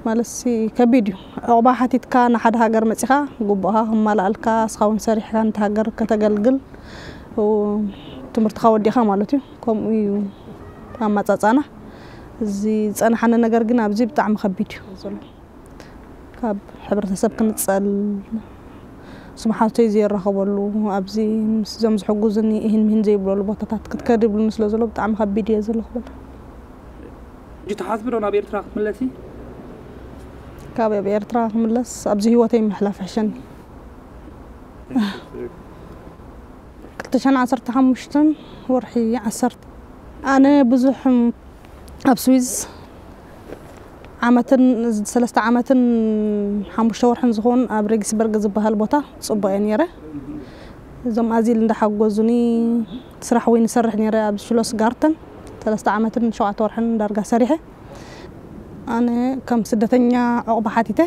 ማለትሲ ከቢድ እዩ። ዕቑባ ሓቲትካ ንሓደ ሃገር መጺኻ፣ ግቡእኻ ክማልኣልካ፣ እስኻ እውን ሰሪሕካ ነቲ ሃገር ከተገልግል፣ ው-፣ ትምህርትኻ ወዲእኻ ማለት እዩ። ከምኡ እዩ ኣመጻጽኣና። እዚ ዝጸንሓኒ ነገር ግን ኣብዚ ብጣዕሚ ከቢድ እዩ ዘሎ። ካብ ሕብረተሰብ ክንጸል፣ ስምሓተይ ዘይራኸበሉ፣ ኣብዚ ምስ እዞም ዝሕጉዝኒ እሂን ምሂን ዘይብለሉ ቦታታት ክትከድ ይብሉኒ ስለ ዘሎ ብጣዕሚ ከቢድ እየ ዘሎ ክብል። ሕጂ ትሓስቢ ዶ ናብ ኤርትራ ክትምለሲ? ካብ ኣብ ኤርትራ ክምለስ ኣብዚ ህይወተይ ምሕላፍ ሕሸኒ። ክልተ ሽሕን ዓሰርተ ሓሙሽተን ወርሒ ዓሰርተ ኣነ ብዙሕ ኣብ ስዊዝ ዓመትን ሰለስተ ዓመትን ሓሙሽተ ወርሕን ዝኾን ኣብ ሬጊስበርግ ዝበሃል ቦታ ጽቡቕ እየ ነይረ። እዞም ኣዚል እንዳሓጎዙኒ ስራሕ ወይ ንሰርሕ ነይረ ኣብ ሽሎስ ጋርተን ሰለስተ ዓመትን ሸውዓተ ወርሕን ዳርጋ ሰሪሐ። ኣነ ከም ስደተኛ ዕቑባ ሓቲተ፣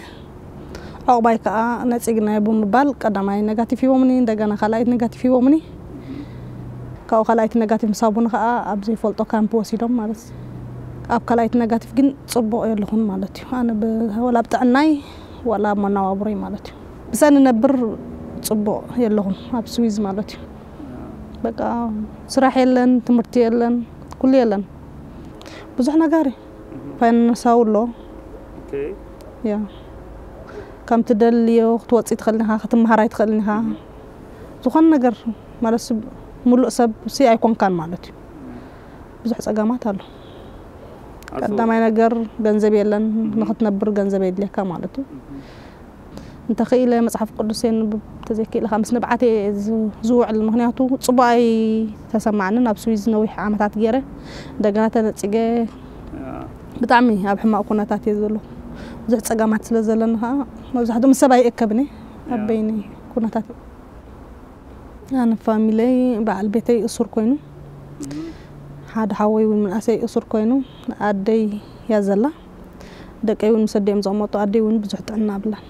ዕቑባይ ከዓ ነጺግናዮ ብምባል ቀዳማይ ነጋቲቭ ሂቦምኒ፣ እንደገና ካልኣይት ነጋቲቭ ሂቦምኒ። ካብኡ ካልኣይቲ ነጋቲቭ ምስ ሃቡኒ ከዓ ኣብ ዘይፈልጦ ካምፕ ወሲዶም ማለት እዩ። ኣብ ካልኣይቲ ነጋቲቭ ግን ጽቡቕ የለኹን ማለት እዩ። ኣነ ብ-፣ ወላ ኣብ ጥዕናይ ወላ ኣብ መነባብሮይ ማለት እዩ። ብሰ ንነብር ጽቡቕ የለኹን ኣብ ስዊዝ ማለት እዩ። በቃ ስራሕ የለን፣ ትምህርቲ የለን፣ ኩሉ የለን። ብዙሕ ነገር እዩ። ፋይናንሳዊ ኣሎ። ኦኬ። ያ ከም ትደልዮ ክትወፅእ ትኽእል ኢኻ፣ ክትመሃር ኣይትኽእልን ኢኻ። ዝኾነ ነገር ማለት ሰብ፣ ሙሉእ ሰብ ሲ ኣይኮንካን ማለት እዩ። ብዙሕ ፀገማት ኣሎ። ኣቶ- ቀዳማይ ነገር ገንዘብ የለን፣ ንኽትነብር ገንዘብ የድልየካ ማለት እዩ። እንተኽኢለ መፅሓፍ ቅዱስ የንብብ፣ ተዘይክኢለ ምስ ንብዓት እየ ዝ-፣ ዝውዕል። ምክንያቱ ፅቡቅ ኣይተሰማዕንን። ኣብ ስዊዝ ነዊሕ ዓመታት ገይረ እንደገና ተነፂገ ያ። ብጣዕሚ ኣብ ሕማቅ ኩነታት እየ ዘሎ። ብዙሕ ፀገማት ስለ ዘለኒ ከዓ መብዛሕትኡ ምስ ሰብ ኣይእከብን እየ። ኣብ ያ። በይነይ ኩነታት። ኣነ ፋሚለይ በዓል ቤተይ እሱር ኮይኑ፣ ሓደ ሓወይ እውን ምንኣሰይ እሱር ኮይኑ፣ ኣደይ እያ ዘላ። ደቀይ እውን ምስ ኣደዮም ዝቕመጡ፣ ኣደይ እውን ብዙሕ ጥዕና ኣብላን።